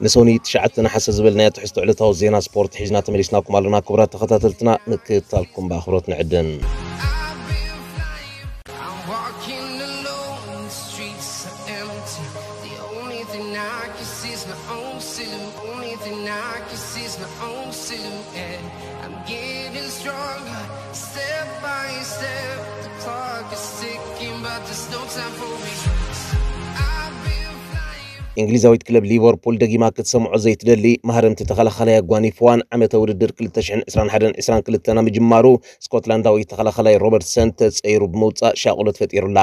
ንሶኒ ትሽዓተ ነሓሰ ዝበልናዮ ትሕዝቶ ዕለታዊ ዜና ስፖርት ሒዝና ተመሊስናኩም ኣለና። ክቡራት ተኸታተልትና፣ ምክትታልኩም ብኣኽብሮት ንዕድም። I'm walking alone, the streets are empty. The only thing I can see is my own silhouette. Only thing I can see is my own silhouette. I'm getting stronger, step by step. The clock is ticking, but there's no time for me. I've been flying. እንግሊዛዊት ክለብ ሊቨርፑል ደጊማ ክትሰምዖ ዘይትደሊ ማህረምቲ ተኸላኻላይ ኣጓኒፍዋን ዓመተ ውድድር ክልተ ሽሕን ዕስራን ሓደን ዕስራን ክልተን ኣብ ምጅማሩ ስኮትላንዳዊ ተኸላኻላይ ሮበርትሰን ተጸይሩ ብምውጻእ ሻቕሎት ፈጢሩላ።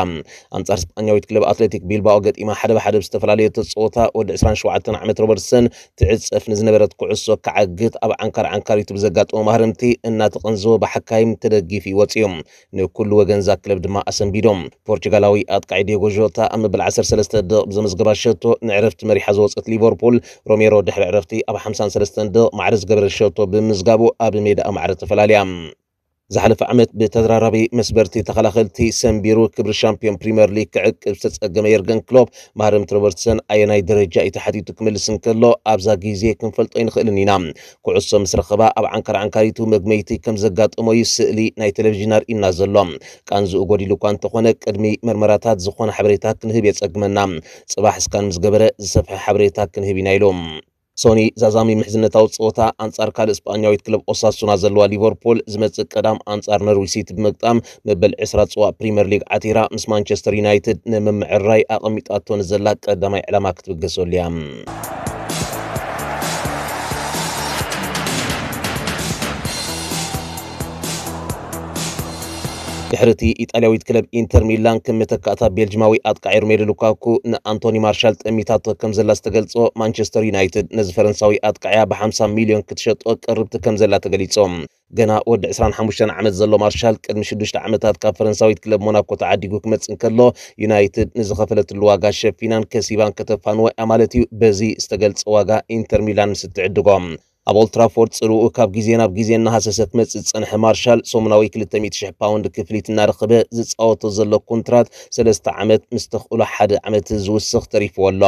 ኣንጻር ስጳኛዊት ክለብ ኣትሌቲክ ቢልባኦ ገጢማ ሓደ ብሓደ ብዝተፈላለየ ተጸወታ ወዲ ዕስራን ሸውዓተን ዓመት ሮበርትሰን ትዕጸፍ ንዝነበረት ኩዕሶ ክዓግት ኣብ ዓንካር ዓንካሪቱ ብዘጋጠሞ ማህረምቲ እናተቐንዘወ ብሓካይም ተደጊፉ ይወጽእ እዩ። ንኩሉ ወገንዛ ክለብ ድማ ኣሰንቢዶም። ፖርቹጋላዊ ኣጥቃዒ ዲዮጎ ዦታ ኣብ መበል ዓሰርተ ሰለስተ ደቕ ብዘመዝገባ ሸቶ ንዕረፍቲ መሪሓ ዝወጸት ሊቨርፑል ሮሜሮ ድሕሪ ዕረፍቲ ኣብ ሓምሳን ሰለስተን ደቕ ማዕረ ዝገበረ ሸቶ ብምዝጋቡ ኣብ ሜዳኣ ማዕረ ተፈላልያ። ዝሓለፈ ዓመት ብተደራራቢ መስበርቲ ተኸላኸልቲ ሰንቢሩ ክብሪ ሻምፒዮን ፕሪምየር ሊግ ክዕቅብ ዝተጸገመ የርገን ክሎፕ ማህረምቲ ሮበርትሰን ኣየናይ ደረጃ እዩ ተሓቲቱ ክምልስ እንከሎ ኣብዛ ግዜ ክንፈልጦ ኣይንኽእልን ኢና። ኩዕሶ ምስ ረኸባ ኣብ ዓንካር ዓንካሪቱ መግመይቲ ከም ዘጋጠሞ እዩ ስእሊ ናይ ቴሌቪዥን ኣርእዩና ዘሎ። ቃንዝኡ ጎዲሉ እኳ እንተኾነ ቅድሚ መርመራታት ዝኾነ ሓበሬታ ክንህብ የጸግመና። ጽባሕ ስካን ምስ ገበረ ዝሰፍሐ ሓበሬታ ክንህብ ኢና ኢሉ። ሶኒ ዛዛሚ ምሕዝነታዊ ጸወታ ኣንጻር ካልእ ስጳኛዊት ክለብ ኦሳሱና ዘለዋ ሊቨርፑል ዝመጽእ ቀዳም ኣንጻር ነርዊች ሲቲ ብምግጣም መበል ዕስራ ጽዋእ ፕሪምየር ሊግ ዓቲራ ምስ ማንቸስተር ዩናይትድ ንምምዕርራይ ኣቐሚጣቶ ንዘላ ቀዳማይ ዕላማ ክትብገሰሉ እያ። ድሕሪ እቲ ኢጣልያዊት ክለብ ኢንተር ሚላን ከም መተካእታ ቤልጅማዊ ኣጥቃዒ ሮሜሉ ሉካኩ ንኣንቶኒ ማርሻል ጠሚታቶ ከም ዘላ ዝተገልጾ ማንቸስተር ዩናይትድ ነዚ ፈረንሳዊ ኣጥቃዒያ ብ ሓምሳ ሚልዮን ክትሸጦ ቅርብቲ ከም ዘላ ተገሊጾም። ገና ወዲ ዕስራን ሓሙሽተን ዓመት ዘሎ ማርሻል ቅድሚ ሽዱሽተ ዓመታት ካብ ፈረንሳዊት ክለብ ሞናኮ ተዓዲጉ ክመጽእ እንከሎ ዩናይትድ ንዝኸፈለትሉ ዋጋ ሸፊናን ከሲባን ከተፋንዎ እያ ማለት እዩ። በዚ ዝተገልጸ ዋጋ ኢንተር ሚላን ምስ እትዕድጎ ኣብ ኦልትራፎርድ ጽልኡ ካብ ግዜ ናብ ግዜ እናሃሰሰ ክመጽእ ዝጸንሐ ማርሻል ሰሙናዊ ክልተ ሚእቲ ሽሕ ፓውንድ ክፍሊት እናረኸበ ዝጻወቶ ዘሎ ኮንትራት ሰለስተ ዓመት ምስ ተኽእሎ ሓደ ዓመት ዝውስኽ ተሪፍዎ ኣሎ።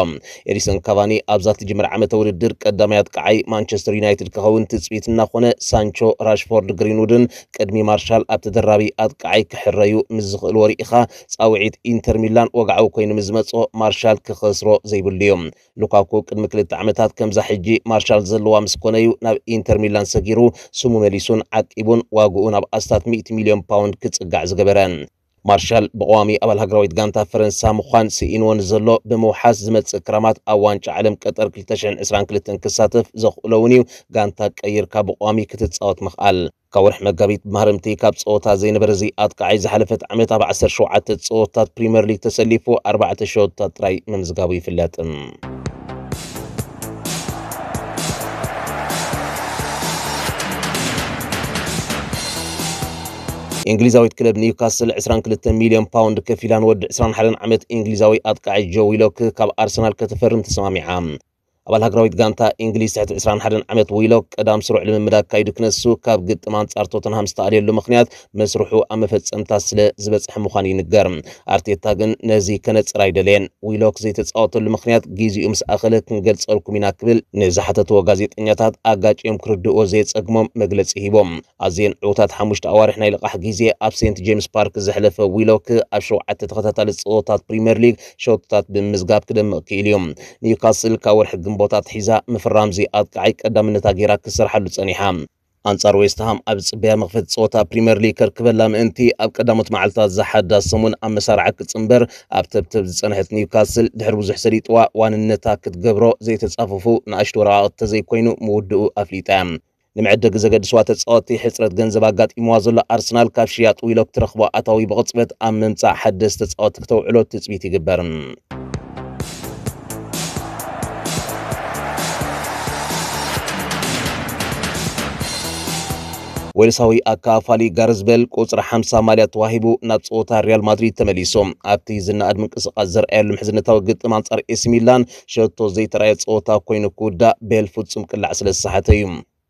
ኤዲሰን ካቫኒ ኣብዛ ትጅምር ዓመተ ውድድር ቀዳማይ ኣጥቃዓይ ማንቸስተር ዩናይትድ ክኸውን ትጽቢት እናኾነ ሳንቾ፣ ራሽፎርድ፣ ግሪንውድን ቅድሚ ማርሻል ኣብ ተደራቢ ኣጥቃዓይ ክሕረዩ ምስ ዝኽእልዎ ርኢኻ ጻውዒት ኢንተር ሚላን ወግዓዊ ኮይኑ ምስ ዝመጾ ማርሻል ክኸስሮ ዘይብሉ እዩ። ሉካኩ ቅድሚ ክልተ ዓመታት ከምዛ ሕጂ ማርሻል ዘለዋ ምስ ኮነዩ ናብ ኢንተር ሚላን ሰጊሩ ስሙ መሊሱን ዓቂቡን ዋግኡ ናብ ኣስታት ሚእቲ ሚልዮን ፓውንድ ክጽጋዕ ዝገበረ። ማርሻል ብቐዋሚ ኣባል ሃገራዊት ጋንታ ፈረንሳ ምዃን ስኢንዎ ንዘሎ ብምውሓስ ዝመጽእ ክራማት ኣብ ዋንጫ ዓለም ቀጠር ክልተ ሽሕን ዕስራን ክልተን ክሳተፍ ዘኽእሎ እውን እዩ። ጋንታ ቀይርካ ብቐዋሚ ክትጻወት ምኽኣል። ካብ ወርሒ መጋቢት ብማህረምቲ ካብ ጸወታ ዘይነበረ እዚ ኣጥቃዓይ ዝሓለፈት ዓመት ኣብ ዓሰርተ ሸውዓተ ጸወታት ፕሪምየር ሊግ ተሰሊፉ ኣርባዕተ ሸቶታት ጥራይ ምምዝጋቡ ይፍለጥ። እንግሊዛዊት ክለብ ኒውካስል ዕስራን ክልተ ሚልዮን ፓውንድ ከፊላ ንወዲ ዕስራን ሓደን ዓመት እንግሊዛዊ ኣጥቃዓይ ጆ ዊሎክ ካብ ኣርሰናል ከተፈርም ተሰማሚዓ። ኣባል ሃገራዊት ጋንታ እንግሊዝ ትሕቲ ዕስራን ሓደን ዓመት ዊሎክ ቀዳም ስሩዕ ልምምድ ኣካይዱ ክነሱ ካብ ግጥም ኣንጻር ቶተንሃም ዝተኣልየሉ ምኽንያት መስርሑ ኣብ መፈጸምታ ስለ ዝበጽሐ ምዃኑ ይንገር። ኣርቴታ ግን ነዚ ከነጽር ኣይደለየን። ዊሎክ ዘይተጻወተሉ ምኽንያት ግዜኡ ምስ ኣኸለ ክንገልጸልኩም ኢና ክብል ንዝሓተትዎ ጋዜጠኛታት ኣጋጭዮም ክርድእዎ ዘየጸግሞም መግለጺ ሂቦም። ኣዝየን ዕዉታት ሓሙሽተ ኣዋርሕ ናይ ልቓሕ ግዜ ኣብ ሴንት ጄምስ ፓርክ ዘሕለፈ ዊሎክ ኣብ ሸውዓተ ተኸታታሊ ጸወታት ፕሪምየር ሊግ ሸቶታት ብምምዝጋብ ክደምቕ ክኢሉ እዩ። ኒውካስል ካብ ወርሒ ግንቦት ኣትሒዛ ምፍራም እዚ ኣጥቃዓይ ቀዳምነታ ገይራ ክሰርሓሉ ጸኒሓ። ኣንጻር ዌስትሃም ኣብ ዝጽበያ መኽፈቲ ጸወታ ፕሪምየር ሊግ ከርክበላ ምእንቲ ኣብ ቀዳሞት መዓልታት ዝሓዳ ሰሙን ኣብ መሳርዓ ክጽንበር ኣብ ተብተብ ዝጸንሐት ኒውካስል ድሕሪ ብዙሕ ሰሊጥዋ ዋንነታ ክትገብሮ ዘይተጻፈፉ ንኣሽቱ ወረቓቕቲ ተዘይኮይኑ ምውድኡ ኣፍሊጣ እያ። ንመዐደጊ ዘገድስዋ ተጻወትቲ ሕጽረት ገንዘብ ኣጋጢምዋ ዘሎ ኣርሰናል ካብ ሽያጥ ዊሎክ ትረኽቦ ኣታዊ ብቕጽበት ኣብ ምምጻእ ሓደስቲ ተጻወትቲ ክተውዕሎ ትጽቢት ይግበር። ዌልሳዊ ኣካፋሊ ጋርዝ ቤል ቁጽሪ ሓምሳ ማልያ ተዋሂቡ ናብ ጸወታ ሪያል ማድሪድ ተመሊሱ። ኣብቲ ዝነኣድ ምንቅስቓስ ዘርኣየሉ ምሕዝነታዊ ግጥም ኣንጻር ኤሲ ሚላን ሸቶ ዘይተራእየ ጸወታ ኮይኑ ክውዳእ ቤል ፍጹም ቅላዕ ስለ ዝሰሓተ እዩ።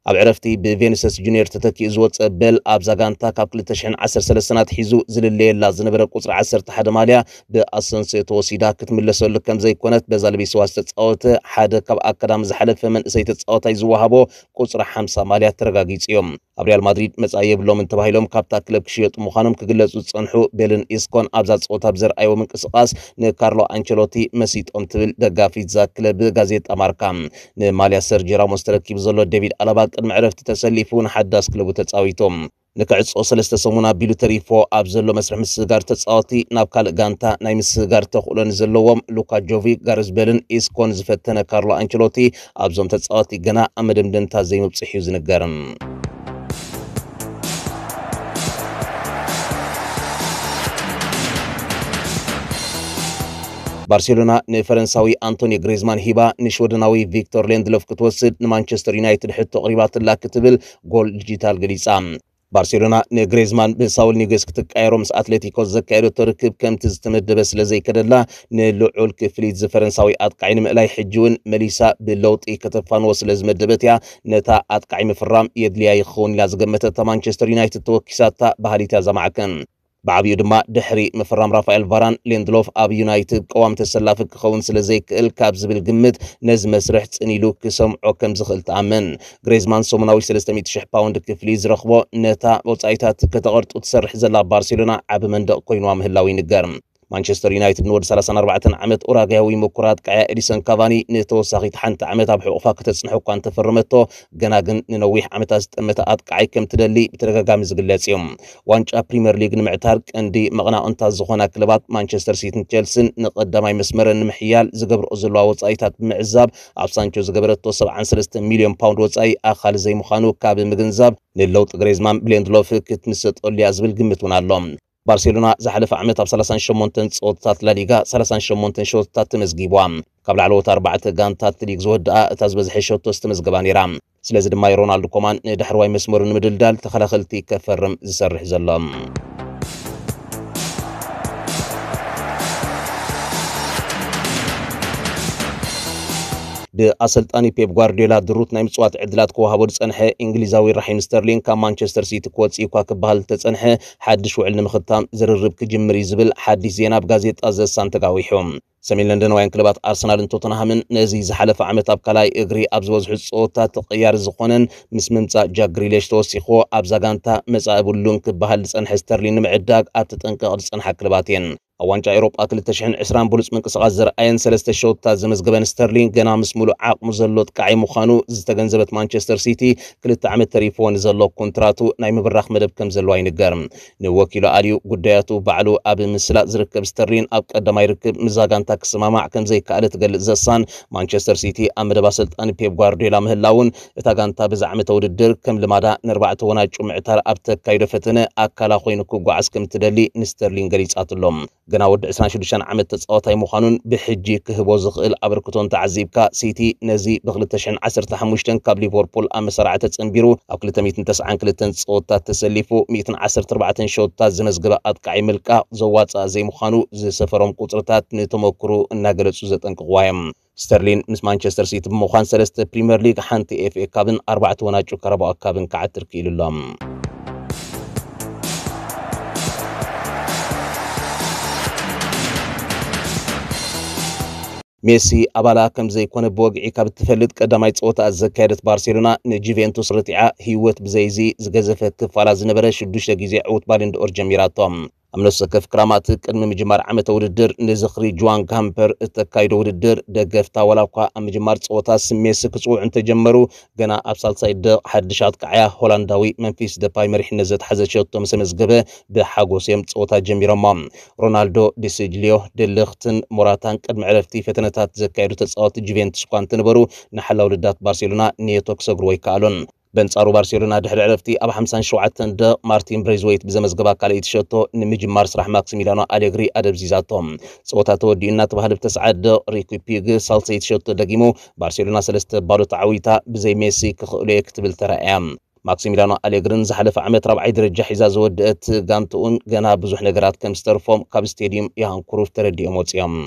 ኣብ ዕረፍቲ ብቬኒሰስ ጁኒየር ተተኪኡ ዝወፀ በል ኣብዛ ጋንታ ካብ ክልተ ሽሕን ዓሰርተ ሰለስተን ኣትሒዙ ዝልለየላ ዝነበረ ቁፅሪ ዓሰርተ ሓደ ማልያ ብኣሰንስዮ ተወሲዳ ክትምለሰሉ ከም ዘይኮነት በዛ ለቢስዋ ዝተፃወተ ሓደ ካብ ኣካዳሚ ዝሓለፈ መንእሰይ ተፃወታይ ዝወሃቦ ቁፅሪ ሓምሳ ማልያ ተረጋጊፁ እዮም። ኣብ ሪያል ማድሪድ መጻኢ የብሎምን ተባሂሎም ካብታ ክለብ ክሽየጡ ምዃኖም ክግለጹ ዝጸንሑ ቤልን ኢስኮን ኣብዛ ጸወታ ብዘርኣይዎ ምንቅስቓስ ንካርሎ ኣንቸሎቲ መሲጦም ትብል ደጋፊት እዛ ክለብ ጋዜጣ ማርካ። ንማልያ ሰርጂ ራሞስ ተረኪቡ ዘሎ ዴቪድ ኣለባ ቅድሚ ዕረፍቲ ተሰሊፉ ንሓዳስ ክለቡ ተጻዊቱ። ንክዕጾ ሰለስተ ሰሙን ኣቢሉ ተሪፎ ኣብ ዘሎ መስርሕ ምስግጋር ተጻወቲ ናብ ካልእ ጋንታ ናይ ምስግጋር ተኽእሎ ንዘለዎም ሉካ ጆቪክ፣ ጋርዝ ቤልን ኢስኮን ዝፈተነ ካርሎ ኣንቸሎቲ ኣብዞም ተጻወቲ ገና ኣብ መደምደምታ ዘይምብጽሕ እዩ ዝንገር። ባርሴሎና ንፈረንሳዊ ኣንቶኒ ግሬዝማን ሂባ ንሽወደናዊ ቪክቶር ሌንድሎፍ ክትወስድ ንማንቸስተር ዩናይትድ ሕቶ ኣቕሪባትላ ክትብል ጎል ዲጂታል ገሊጻ። ባርሴሎና ንግሬዝማን ብሳውል ኒጉስ ክትቀየሮ ምስ ኣትሌቲኮ ዘካየደቶ ርክብ ከምቲ ዝተመደበ ስለ ዘይከደላ ንልዑል ክፍሊት ዝፈረንሳዊ ኣጥቃዒ ንምእላይ ሕጂ እውን መሊሳ ብለውጢ ከተፋንዎ ስለ ዝመደበት እያ ነታ ኣጥቃዒ ምፍራም የድልያ ይኸውን ኢላ ዝገመተታ ማንቸስተር ዩናይትድ ተወኪሳታ ባህሊት እያ ዘማዕከን። ብዓብዩ ድማ ድሕሪ ምፍራም ራፋኤል ቫራን ሌንድሎፍ ኣብ ዩናይትድ ቀዋሚ ተሰላፊ ክኸውን ስለ ዘይክእል ካብ ዝብል ግምት ነዚ መስርሕ ጽን ኢሉ ክሰምዖ ከም ዝኽእል ትኣምን። ግሬዝማን ሰሙናዊ ሰለስተ ሚእቲ ሽሕ ፓውንድ ክፍሊ ዝረኽቦ ነታ ወጻኢታት ከተቐርጡ ትሰርሕ ዘላ ባርሴሎና ዓቢ መንደቕ ኮይንዋ ምህላው ይንገር። ማንቸስተር ዩናይትድ ንወዲ ሰላሳን ኣርባዕተን ዓመት ኡራጋያዊ ምኩር ኣጥቃዒ ኤዲሰን ካቫኒ ንተወሳኺት ሓንቲ ዓመት ኣብ ሕቑፋ ከተጽንሖ እኳ እንተፈረመቶ፣ ገና ግን ንነዊሕ ዓመታት ዝጠመተ ኣጥቃዓይ ከም ትደሊ ብተደጋጋሚ ዝግለጽ እዩ። ዋንጫ ፕሪምየር ሊግ ንምዕታር ቀንዲ መቕናቕንታት ዝኾና ክለባት ማንቸስተር ሲቲን ቸልሲን ንቐዳማይ መስመረን ንምሕያል ዝገብርኦ ዘለዋ ወጻኢታት ብምዕዛብ ኣብ ሳንቾ ዝገበረቶ ሰብዓን ሰለስተ ሚልዮን ፓውንድ ወጻኢ ኣኻሊ ዘይምዃኑ ካብ ምግንዛብ ንለውጢ ግሬዝማን ብሌንድሎፍ ክትምሰጠሉ እያ ዝብል ግምት እውን ኣሎ። ባርሴሎና ዝሓለፈ ዓመት ኣብ ሰላሳን ሸሞንተን ጸወታታት ላሊጋ ሰላሳን ሸሞንተን ሸወታታት ተመዝጊቧ። ካብ ላዕለዎት ኣርባዕተ ጋንታት ሊግ ዝወድኣ እታ ዝበዝሐ ሸቶ ዝተመዝገባ ነይራ። ስለዚ ድማ ሮናልዶ ኮማን ንዳሕረዋይ መስመሩ ንምድልዳል ተኸላኸልቲ ከፈርም ዝሰርሕ ዘሎ። ብኣሰልጣኒ ፔፕ ጓርዲዮላ ድሩት ናይ ምጽዋት ዕድላት ክወሃቦ ዝጸንሐ እንግሊዛዊ ራሒም ስተርሊንግ ካብ ማንቸስተር ሲቲ ክወጽእ እኳ ክበሃል ዝተጸንሐ ሓድሽ ውዕል ንምኽታም ዝርርብ ክጅምር እዩ ዝብል ሓድሽ ዜና ኣብ ጋዜጣ ዘሳን ተጋዊሑ። ሰሜን ለንደናውያን ክለባት ኣርሰናልን ቶተንሃምን ነዚ ዝሓለፈ ዓመት ኣብ ካልኣይ እግሪ ኣብ ዝበዝሑ ጸወታ ተቐያሪ ዝኾነን ምስ ምምጻእ ጃክ ግሪሊሽ ተወሲኽዎ ኣብዛ ጋንታ መጻኢ ብሉን ክበሃል ዝጸንሐ ስተርሊን ንምዕዳግ ኣብ ተጠንቀቕ ዝጸንሓ ክለባት እየን። ኣብ ዋንጫ ኤውሮጳ ክልተ ሽሕን ዕስራን ብሉጽ ምንቅስቓስ ዘርኣየን ሰለስተ ሸወታት ዘመዝገበን ስተርሊን ገና ምስ ሙሉእ ዓቕሙ ዘሎ ጥቃዓይ ምዃኑ ዝተገንዘበት ማንቸስተር ሲቲ ክልተ ዓመት ተሪፍዎ ንዘሎ ኮንትራቱ ናይ ምብራኽ መደብ ከም ዘለዋ ይንገር። ንወኪሉ ኣልዩ ጉዳያቱ ባዕሉ ኣብ ምስላጥ ዝርከብ ስተርሊን ኣብ ቀዳማይ ርክብ ምስዛ ጋንታ ክሰማማዕ ከም ዘይከኣለ ትገልጽ ዘሳን ማንቸስተር ሲቲ ኣብ መደብ ኣሰልጣኒ ፔፕ ጓርዲዮላ ምህላውን እታ ጋንታ በዚ ዓመተ ውድድር ከም ልማዳ ንኣርባዕተ ወናጩ ምዕታር ኣብ ተካይዶ ፈተነ ኣካላ ኮይኑ ክጓዓዝ ከም ትደሊ ንስተርሊን ገሊጻትሎም። ገና ወዲ ዕስራን ሽዱሽተን ዓመት ተጻዋታይ ምዃኑን ብሕጂ ክህቦ ዝኽእል ኣበርክቶን ተዓዚብካ፣ ሲቲ ነዚ ብ ክልተ ሽሕን ዓሰርተ ሓሙሽተን ካብ ሊቨርፑል ኣብ መሳርዕ ተጸንቢሩ ኣብ ክልተ ሚእትን ተስዓን ክልተን ጸወታት ተሰሊፉ ሚእትን ዓሰርተ ኣርባዕተን ሸወታት ዘመዝገበ ኣጥቃዒ ምልቃቕ ዘዋጽኣ ዘይምዃኑ ዝሰፈሮም ቁጽርታት ንተመክሩ እናገለጹ ዘጠንቅቕዋ እዮም። ስተርሊን ምስ ማንቸስተር ሲቲ ብምዃን ሰለስተ ፕሪምየር ሊግ፣ ሓንቲ ኤፍ ኤ ካፕን ኣርባዕተ ወናጩ ካራባኦ ካፕን ክዓትር ክኢሉ ኣሎ። ሜሲ ኣባላ ከም ዘይኮነ ብወግዒ ካብ እትፈልጥ ቀዳማይ ጸወታ ዘካየደት ባርሴሎና ንጁቬንቱስ ርቲዓ ህይወት ብዘይዚ ዝገዘፈ ክፋላ ዝነበረ ሽዱሽተ ግዜ ዕውት ባለንድኦር ጀሚራቶ። ኣብ ነፍሲ ወከፍ ክራማት ቅድሚ ምጅማር ዓመተ ውድድር ንዝኽሪ ጁዋን ጋምፐር እተካይዶ ውድድር ደገፍታ ዋላ እኳ ኣብ ምጅማር ጸወታ ስሜሲ ክጽውዑ እንተጀመሩ፣ ገና ኣብ ሳልሳይ ደቕ ሓድሽ ኣጥቃዓያ ሆላንዳዊ መንፊስ ደፓይ መሪሕነት ዘትሓዘ ሸቶ ምስ ኣመዝገበ ብሓጎስ እዮም ጸወታ ጀሚሮሞ። ሮናልዶ፣ ዲሲጅሊዮ፣ ደልኽትን ሞራታን ቅድሚ ዕረፍቲ ፈተነታት ዘካየዱ ተጻወቲ ጁቬንቱስ እኳ እንተነበሩ፣ ንሓላው ልዳት ባርሴሎና ኔቶ ክሰግርዎ ኣይከኣሉን። በንጻሩ ባርሴሎና ድሕሪ ዕረፍቲ ኣብ ሓምሳን ሸውዓተን ደቕ ማርቲን ብሬዝወይት ብዘመዝገባ ካልኣይቲ ሸቶ ንምጅማር ስራሕ ማክሲሚላኖ ኣሌግሪ ኣደብዚዛቶ። ጸወታ ተወዲኡ እናተባህለ ብተስዓት ደቕ ሪኪ ፒግ ሳልሰይቲ ሸቶ ደጊሙ ባርሴሎና ሰለስተ ባዶ ተዓዊታ ብዘይ ሜሲ ክኽእሎ እየ ክትብል ተራእያ። ማክሲሚላኖ ኣሌግርን ዝሓለፈ ዓመት ራብዓይ ደረጃ ሒዛ ዝወደአት ጋንትኡን ገና ብዙሕ ነገራት ከም ዝተርፎም ካብ ስቴድዩም ዮሃን ክሩፍ ተረዲኦም ወጺኦም።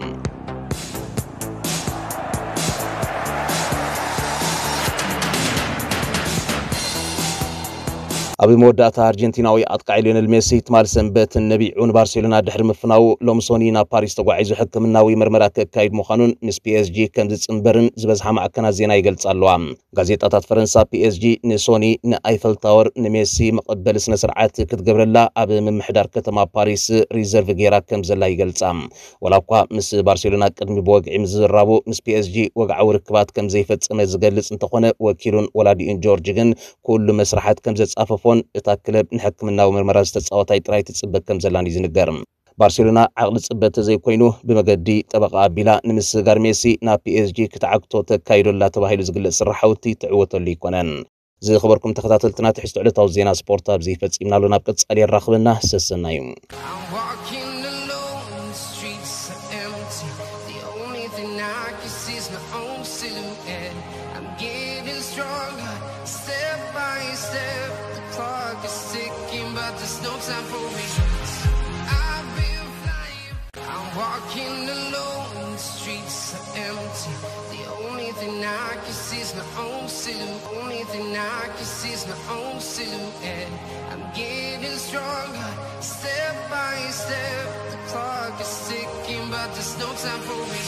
ኣብ መወዳእታ ኣርጀንቲናዊ ኣጥቃዒ ሊዮነል ሜሲ ትማል ሰንበት ነቢዑ ንባርሴሎና ድሕሪ ምፍናዉ ሎም ሶኒ ናብ ፓሪስ ተጓዒዙ ሕክምናዊ መርመራ ከካይድ ምዃኑን ምስ ፒኤስጂ ከም ዝጽንበርን ዝበዝሓ ማዕከናት ዜና ይገልጻ ኣለዋ። ጋዜጣታት ፈረንሳ ፒኤስጂ ንሶኒ ንኣይፈል ታወር ንሜሲ መቐበሊ ስነ ስርዓት ክትገብረላ ኣብ ምምሕዳር ከተማ ፓሪስ ሪዘርቭ ገይራ ከም ዘላ ይገልጻ። ወላ እኳ ምስ ባርሴሎና ቅድሚ ብወግዒ ምዝራቡ ምስ ፒኤስጂ ወግዓዊ ርክባት ከም ዘይፈጸመ ዝገልጽ እንተኾነ ወኪሉን ወላዲኡን ጆርጅ ግን ኩሉ መስርሓት ከም ዘጻፈፎን እታ ክለብ ንሕክምናዊ ምርመራ ዝተጻወታይ ጥራይ ትጽበ ከም ዘላን እዩ ዝንገር። ባርሴሎና ዓቕሊ ጽበት ተዘይኮይኑ ብመገዲ ጠበቓ ኣቢላ ንምስጋር ሜሲ ናብ ፒኤስጂ ክትዓግቶ ተካይዶላ ተባሂሉ ዝግለጽ ስራሓውቲ ትዕወተሉ ኣይኮነን። ዝኸበርኩም ተኸታተልትና ትሕዝቶ ዕለታዊ ዜና ስፖርት ኣብዚ ፈጺምናሉ ናብ ቀጻሊ የራኽበና ሰሰናዩ። I'm walking alone, the streets are empty. The only thing I can see is my own silhouette. I'm getting stronger, step by step. The clock is ticking, but there's no time for regrets. I've been flying. I'm walking alone, the streets are empty. The only thing I can see is my own silhouette. Only thing I can see is my own silhouette. I'm getting stronger, step by step. The clock is ticking, but there's no time for me.